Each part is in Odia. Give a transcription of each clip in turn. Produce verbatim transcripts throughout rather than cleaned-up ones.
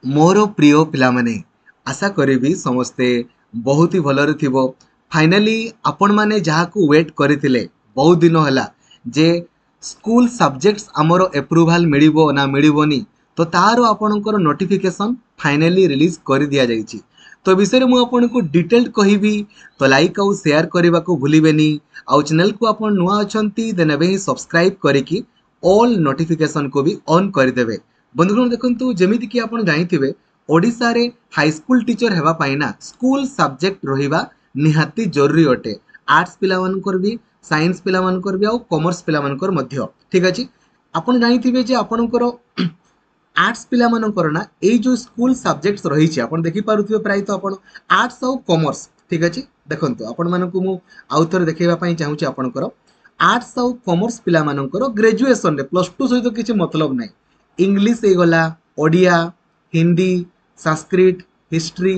ମୋର ପ୍ରିୟ ପିଲାମାନେ, ଆଶା କରିବି ସମସ୍ତେ ବହୁତ ହି ଭଲରେ ଥିବ। ଫାଇନାଲି ଆପଣମାନେ ଯାହାକୁ ୱେଟ୍ କରିଥିଲେ ବହୁତ ଦିନ ହେଲା ଯେ ସ୍କୁଲ ସବଜେକ୍ଟସ୍ ଆମର ଏପ୍ରୁଭାଲ୍ ମିଳିବ ନା ମିଳିବନି, ତ ତାର ଆପଣଙ୍କର ନୋଟିଫିକେସନ୍ ଫାଇନାଲି ରିଲିଜ୍ କରିଦିଆଯାଇଛି। ତ ବିଷୟରେ ମୁଁ ଆପଣଙ୍କୁ ଡିଟେଲ୍ଡ କହିବି, ତ ଲାଇକ୍ ଆଉ ସେୟାର କରିବାକୁ ଭୁଲିବେନି। ଆଉ ଚ୍ୟାନେଲକୁ ଆପଣ ନୂଆ ଅଛନ୍ତି, ଦେନ୍ ଏବେ ହିଁ ସବସ୍କ୍ରାଇବ୍ କରିକି ଅଲ୍ ନୋଟିଫିକେସନ୍କୁ ବି ଅନ୍ କରିଦେବେ। ବନ୍ଧୁଗଣ ଦେଖନ୍ତୁ, ଯେମିତିକି ଆପଣ ଜାଣିଥିବେ, ଓଡ଼ିଶାରେ ହାଇସ୍କୁଲ ଟିଚର ହେବା ପାଇଁ ନା ସ୍କୁଲ ସବଜେକ୍ଟ ରହିବା ନିହାତି ଜରୁରୀ ଅଟେ। ଆର୍ଟ୍ସ ପିଲାମାନଙ୍କର ବି, ସାଇନ୍ସ ପିଲାମାନଙ୍କର ବି ଆଉ କମର୍ସ ପିଲାମାନଙ୍କର ମଧ୍ୟ। ଠିକ୍ ଅଛି, ଆପଣ ଜାଣିଥିବେ ଯେ ଆପଣଙ୍କର ଆର୍ଟ୍ସ ପିଲାମାନଙ୍କର ନା ଏଇ ଯେଉଁ ସ୍କୁଲ ସବଜେକ୍ଟସ୍ ରହିଛି, ଆପଣ ଦେଖିପାରୁଥିବେ ପ୍ରାୟତଃ ଆପଣ ଆର୍ଟ୍ସ ଆଉ କମର୍ସ। ଠିକ୍ ଅଛି, ଦେଖନ୍ତୁ, ଆପଣମାନଙ୍କୁ ମୁଁ ଆଉ ଥରେ ଦେଖେଇବା ପାଇଁ ଚାହୁଁଛି। ଆପଣଙ୍କର ଆର୍ଟ୍ସ ଆଉ କମର୍ସ ପିଲାମାନଙ୍କର ଗ୍ରାଜୁଏସନରେ ପ୍ଲସ୍ ଟୁ ସହିତ କିଛି ମତଲବ ନାହିଁ। ଇଂଲିଶ ହେଇଗଲା, Odia, Hindi, Sanskrit, history,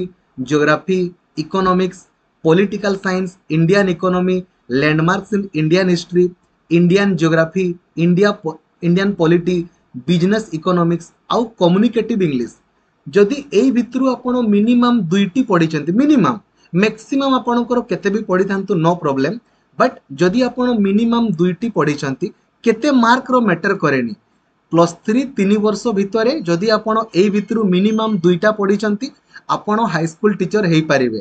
geography, economics, political science, Indian economy, landmarks in Indian history, Indian geography, India Indian polity, business economics ଆଉ କମ୍ୟୁନିକେଟିଭ୍ ଇଂଲିଶ। ଯଦି ଏଇ ଭିତରୁ ଆପଣ ମିନିମମ୍ ଦୁଇଟି ପଢ଼ିଛନ୍ତି, ମିନିମମ୍, ମ୍ୟାକ୍ସିମମ୍ ଆପଣଙ୍କର କେତେ ବି ପଢ଼ିଥାନ୍ତୁ ନୋ ପ୍ରୋବ୍ଲେମ୍, ବଟ୍ ଯଦି ଆପଣ ମିନିମମ୍ ଦୁଇଟି ପଢ଼ିଛନ୍ତି, କେତେ ମାର୍କର ମ୍ୟାଟର କରେନି। ପ୍ଲସ୍ ଥ୍ରୀ ତିନି ବର୍ଷ ଭିତରେ ଯଦି ଆପଣ ଏଇ ଭିତରୁ ମିନିମମ୍ ଦୁଇଟା ପଢ଼ିଛନ୍ତି, ଆପଣ ହାଇସ୍କୁଲ ଟିଚର ହେଇପାରିବେ।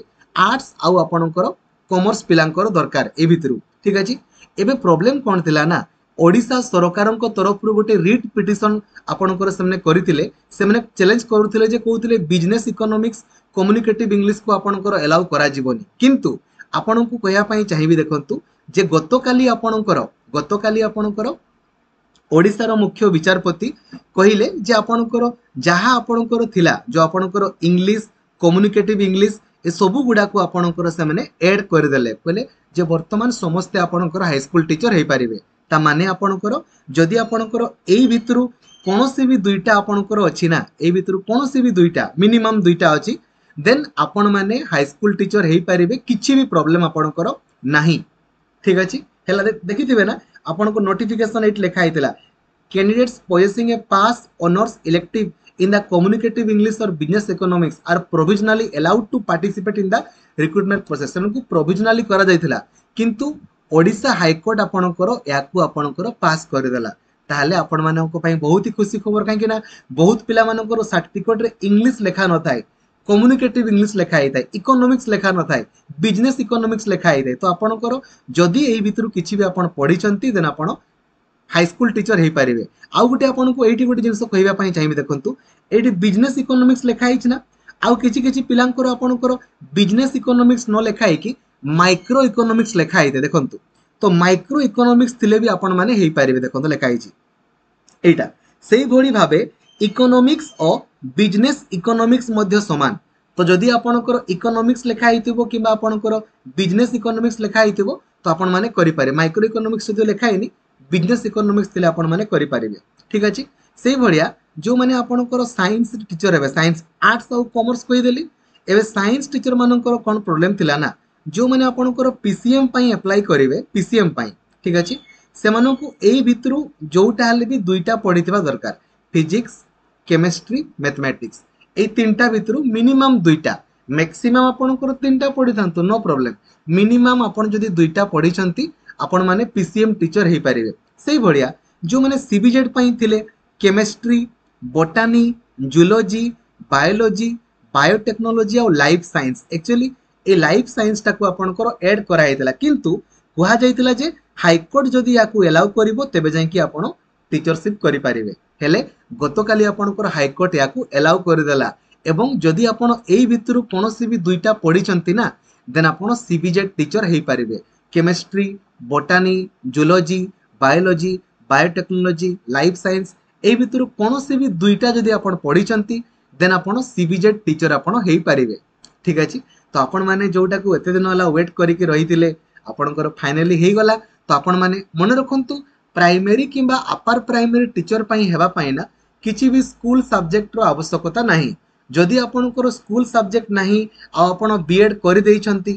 ଆର୍ଟ୍ସ ଆଉ ଆପଣଙ୍କର କମର୍ସ ପିଲାଙ୍କର ଦରକାର ଏଇ ଭିତରୁ। ଠିକ୍ ଅଛି, ଏବେ ପ୍ରୋବ୍ଲେମ୍ କ'ଣ ଥିଲା ନା ଓଡ଼ିଶା ସରକାରଙ୍କ ତରଫରୁ ଗୋଟେ ରିଟ୍ ପିଟିସନ୍ ଆପଣଙ୍କର ସେମାନେ କରିଥିଲେ। ସେମାନେ ଚ୍ୟାଲେଞ୍ଜ କରୁଥିଲେ ଯେ କହୁଥିଲେ ବିଜନେସ୍ ଇକୋନୋମିକ୍ସ, କମ୍ୟୁନିକେଟିଭ୍ ଇଂଲିଶକୁ ଆପଣଙ୍କର ଏଲାଉ କରାଯିବନି। କିନ୍ତୁ ଆପଣଙ୍କୁ କହିବା ପାଇଁ ଚାହିଁବି, ଦେଖନ୍ତୁ ଯେ ଗତକାଲି ଆପଣଙ୍କର ଗତକାଲି ଆପଣଙ୍କର ଓଡ଼ିଶାର ମୁଖ୍ୟ ବିଚାରପତି କହିଲେ ଯେ ଆପଣଙ୍କର ଯାହା ଆପଣଙ୍କର ଥିଲା, ଯେଉଁ ଆପଣଙ୍କର ଇଂଲିଶ, କମ୍ୟୁନିକେଟିଭ୍ ଇଂଲିଶ, ଏସବୁ ଗୁଡ଼ାକୁ ଆପଣଙ୍କର ସେମାନେ ଏଡ୍ କରିଦେଲେ। କହିଲେ ଯେ ବର୍ତ୍ତମାନ ସମସ୍ତେ ଆପଣଙ୍କର ହାଇସ୍କୁଲ ଟିଚର ହେଇପାରିବେ। ତା ମାନେ ଆପଣଙ୍କର ଯଦି ଆପଣଙ୍କର ଏଇ ଭିତରୁ କୌଣସି ବି ଦୁଇଟା ଆପଣଙ୍କର ଅଛି ନା, ଏଇ ଭିତରୁ କୌଣସି ବି ଦୁଇଟା, ମିନିମମ୍ ଦୁଇଟା ଅଛି, ଦେନ୍ ଆପଣମାନେ ହାଇସ୍କୁଲ ଟିଚର ହେଇପାରିବେ, କିଛି ବି ପ୍ରୋବ୍ଲେମ୍ ଆପଣଙ୍କର ନାହିଁ। ଠିକ୍ ଅଛି, ହେଲା, ଦେଖିଥିବେ ନା ଆପଣଙ୍କୁ ନୋଟିଫିକେସନ୍ ଏଇଠି ଲେଖା ହେଇଥିଲା, candidates possessing a pass honours elective in the communicative English or business economics are provisionally allowed to participate in the recruitment process। ସେମାନଙ୍କୁ provisionally କରାଯାଇଥିଲା, କିନ୍ତୁ ଓଡ଼ିଶା ହାଇକୋର୍ଟ ଆପଣଙ୍କର ଏହାକୁ ଆପଣଙ୍କର ପାସ୍ କରିଦେଲା। ତାହେଲେ ଆପଣମାନଙ୍କ ପାଇଁ ବହୁତ ହି ଖୁସି ଖବର, କାହିଁକି ନା ବହୁତ ପିଲାମାନଙ୍କର ସାର୍ଟିଫିକେଟରେ ଇଂଲିଶ ଲେଖା ନଥାଏ, କମ୍ୟୁନିକେଟିଭ୍ ଇଂଲିଶ ଲେଖା ହେଇଥାଏ, ଇକୋନୋମିକ୍ସ ଲେଖା ନଥାଏ, ବିଜନେସ୍ ଇକୋନୋମିକ୍ସ ଲେଖା ହେଇଥାଏ। ତ ଆପଣଙ୍କର ଯଦି ଏଇ ଭିତରୁ କିଛି ବି ଆପଣ ପଢିଛନ୍ତି, ଦେନ୍ ଆପଣ ହାଇସ୍କୁଲ ଟିଚର ହେଇପାରିବେ। ଆଉ ଗୋଟେ ଆପଣଙ୍କୁ ଏଇଠି ଗୋଟେ ଜିନିଷ କହିବା ପାଇଁ ଚାହିଁବି। ଦେଖନ୍ତୁ, ଏଇଠି ବିଜନେସ୍ ଇକୋନୋମିକ୍ସ ଲେଖା ହେଇଛି ନା, ଆଉ କିଛି କିଛି ପିଲାଙ୍କର ଆପଣଙ୍କର ବିଜନେସ୍ ଇକୋନୋମିକ୍ସ ନ ଲେଖା ହେଇକି ମାଇକ୍ରୋ ଇକୋନୋମିକ୍ସ ଲେଖା ହେଇଥାଏ। ଦେଖନ୍ତୁ, ତ ମାଇକ୍ରୋ ଇକୋନୋମିକ୍ସ ଥିଲେ ବି ଆପଣମାନେ ହେଇପାରିବେ। ଦେଖନ୍ତୁ, ଲେଖା ହେଇଛି ଏଇଟା। ସେଇଭଳି ଭାବେ ଇକୋନୋମିକ୍ସ ଓ ବିଜନେସ୍ ଇକୋନୋମିକ୍ସ ମଧ୍ୟ ସମାନ। ତ ଯଦି ଆପଣଙ୍କର ଇକୋନୋମିକ୍ସ ଲେଖା ହେଇଥିବ କିମ୍ବା ଆପଣଙ୍କର ବିଜନେସ୍ ଇକୋନୋମିକ୍ସ ଲେଖା ହେଇଥିବ, ତ ଆପଣମାନେ କରିପାରିବେ। ମାଇକ୍ରୋ ଇକୋନୋମିକ୍ସ ଯଦି ଲେଖା ହେଇନି, ବିଜନେସ୍ ଇକୋନୋମିକ୍ସ ଥିଲେ ଆପଣମାନେ କରିପାରିବେ। ଠିକ୍ ଅଛି, ସେଇଭଳିଆ ଯେଉଁମାନେ ଆପଣଙ୍କର ସାଇନ୍ସ ଟିଚର ହେବେ, ସାଇନ୍ସ, ଆର୍ଟ୍ସ ଆଉ କମର୍ସ କହିଦେଲି। ଏବେ ସାଇନ୍ସ ଟିଚର ମାନଙ୍କର କ'ଣ ପ୍ରୋବ୍ଲେମ୍ ଥିଲା ନା ଯେଉଁମାନେ ଆପଣଙ୍କର ପିସିଏମ୍ ପାଇଁ ଆପ୍ଲାଏ କରିବେ, ପିସିଏମ୍ ପାଇଁ, ଠିକ୍ ଅଛି, ସେମାନଙ୍କୁ ଏଇ ଭିତରୁ ଯୋଉଟା ହେଲେ ବି ଦୁଇଟା ପଢିଥିବା ଦରକାର। ଫିଜିକ୍ସ, କେମିଷ୍ଟ୍ରି, ମ୍ୟାଥମେଟିକ୍ସ, ଏଇ ତିନିଟା ଭିତରୁ ମିନିମମ୍ ଦୁଇଟା। ମ୍ୟାକ୍ସିମମ୍ ଆପଣଙ୍କର ତିନିଟା ପଢିଥାନ୍ତୁ, ନୋ ପ୍ରୋବ୍ଲେମ୍। ମିନିମମ୍ ଆପଣ ଯଦି ଦୁଇଟା ପଢିଛନ୍ତି, ଆପଣମାନେ ପିସିଏମ୍ ଟିଚର ହେଇପାରିବେ। ସେଇଭଳିଆ ଯେଉଁମାନେ ସିବିଜେଡ୍ ପାଇଁ ଥିଲେ, chemistry, botany, zoology, biology, biotechnology ଆଉ ଲାଇଫ୍ ସାଇନ୍ସ। ଆକ୍ଚୁଆଲି ଏ ଲାଇଫ୍ ସାଇନ୍ସଟାକୁ ଆପଣଙ୍କର ଏଡ୍ କରାଯାଇଥିଲା, କିନ୍ତୁ କୁହାଯାଇଥିଲା ଯେ ହାଇକୋର୍ଟ ଯଦି ୟାକୁ ଏଲାଉ କରିବ, ତେବେ ଯାଇକି ଆପଣ ଟିଚରସିପ୍ କରିପାରିବେ। ହେଲେ ଗତକାଲି ଆପଣଙ୍କର ହାଇକୋର୍ଟ ୟାକୁ ଏଲାଉ କରିଦେଲା ଏବଂ ଯଦି ଆପଣ ଏଇ ଭିତରୁ କୌଣସି ବି ଦୁଇଟା ପଢିଛନ୍ତି ନା, ଦେନ୍ ଆପଣ ସିବିଜେଡ୍ ଟିଚର ହେଇପାରିବେ। Chemistry, botany, zoology, biology, biotechnology, life science, ଏଇ ଭିତରୁ କୌଣସି ବି ଦୁଇଟା ଯଦି ଆପଣ ପଢିଛନ୍ତି, ଦେନ୍ ଆପଣ ସିବିଜେଡ୍ ଟିଚର ଆପଣ ହେଇପାରିବେ। ଠିକ୍ ଅଛି, ତ ଆପଣମାନେ ଯୋଉଟାକୁ ଏତେ ଦିନ ହେଲା ୱେଟ୍ କରିକି ରହିଥିଲେ, ଆପଣଙ୍କର ଫାଇନାଲି ହେଇଗଲା। ତ ଆପଣମାନେ ମନେ ରଖନ୍ତୁ, ପ୍ରାଇମେରୀ କିମ୍ବା ଆପାର ପ୍ରାଇମେରୀ ଟିଚର ପାଇଁ ହେବା ପାଇଁ ନା କିଛି ବି ସ୍କୁଲ ସବଜେକ୍ଟର ଆବଶ୍ୟକତା ନାହିଁ। ଯଦି ଆପଣଙ୍କର ସ୍କୁଲ ସବଜେକ୍ଟ ନାହିଁ ଆଉ ଆପଣ ବିଏଡ୍ କରିଦେଇଛନ୍ତି,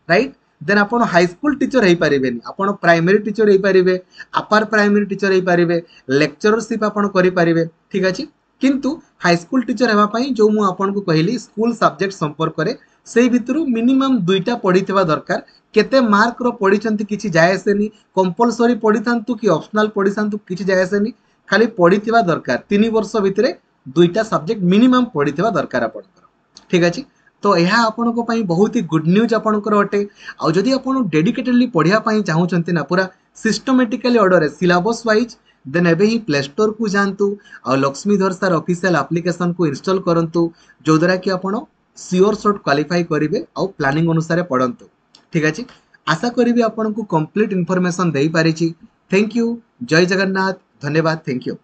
ରାଇଟ୍, ଦେନ୍ ଆପଣ ହାଇସ୍କୁଲ ଟିଚର ହେଇପାରିବେନି। ଆପଣ ପ୍ରାଇମେରୀ ଟିଚର ହେଇପାରିବେ, ଆପାର ପ୍ରାଇମେରୀ ଟିଚର ହେଇପାରିବେ, ଲେକ୍ଚରରସିପ୍ ଆପଣ କରିପାରିବେ। ଠିକ୍ ଅଛି, କିନ୍ତୁ ହାଇସ୍କୁଲ ଟିଚର ହେବା ପାଇଁ ଯେଉଁ ମୁଁ ଆପଣଙ୍କୁ କହିଲି ସ୍କୁଲ ସବଜେକ୍ଟ ସମ୍ପର୍କରେ ସେଇ ଭିତରୁ ମିନିମମ୍ ଦୁଇଟା ପଢ଼ିଥିବା ଦରକାର କେତେ ମାର୍କର ପଢ଼ିଛନ୍ତି କିଛି ଯାଏ ଆସେନି କମ୍ପଲସରି ପଢ଼ିଥାନ୍ତୁ କି ଅପସନାଲ ପଢ଼ିଥାନ୍ତୁ କିଛି ଯାଏ ଆସେନି ଖାଲି ପଢ଼ିଥିବା ଦରକାର ତିନି ବର୍ଷ ଭିତରେ ଦୁଇଟା ସବଜେକ୍ଟ ମିନିମମ୍ ପଢ଼ିଥିବା ଦରକାର ଆପଣଙ୍କର ଠିକ୍ ଅଛି ତ ଏହା ଆପଣଙ୍କ ପାଇଁ ବହୁତ ହି ଗୁଡ୍ ନ୍ୟୁଜ୍ ଆପଣଙ୍କର ଅଟେ ଆଉ ଯଦି ଆପଣ ଡେଡିକେଟେଡଲି ପଢ଼ିବା ପାଇଁ ଚାହୁଁଛନ୍ତି ନା ପୁରା ସିଷ୍ଟମେଟିକାଲି ଅର୍ଡ଼ରରେ ସିଲାବସ୍ ୱାଇଜ୍ ଦେନ୍ ଏବେ ହିଁ ପ୍ଲେ ଷ୍ଟୋରକୁ ଯାଆନ୍ତୁ ଆଉ ଲକ୍ଷ୍ମୀଧର ସାର୍ ଅଫିସିଆଲ ଆପ୍ଲିକେସନକୁ ଇନଷ୍ଟଲ୍ କରନ୍ତୁ ଯେଉଁଦ୍ୱାରା କି ଆପଣ ସିଓର ସଟ୍ କ୍ୱାଲିଫାଇ କରିବେ ଆଉ ପ୍ଲାନିଂ ଅନୁସାରେ ପଢ଼ନ୍ତୁ ଠିକ୍ ଅଛି ଆଶା କରିବି ଆପଣଙ୍କୁ କମ୍ପ୍ଲିଟ୍ ଇନଫର୍ମେସନ୍ ଦେଇପାରିଛି thank you Jay Jagannath ଧନ୍ୟବାଦ thank you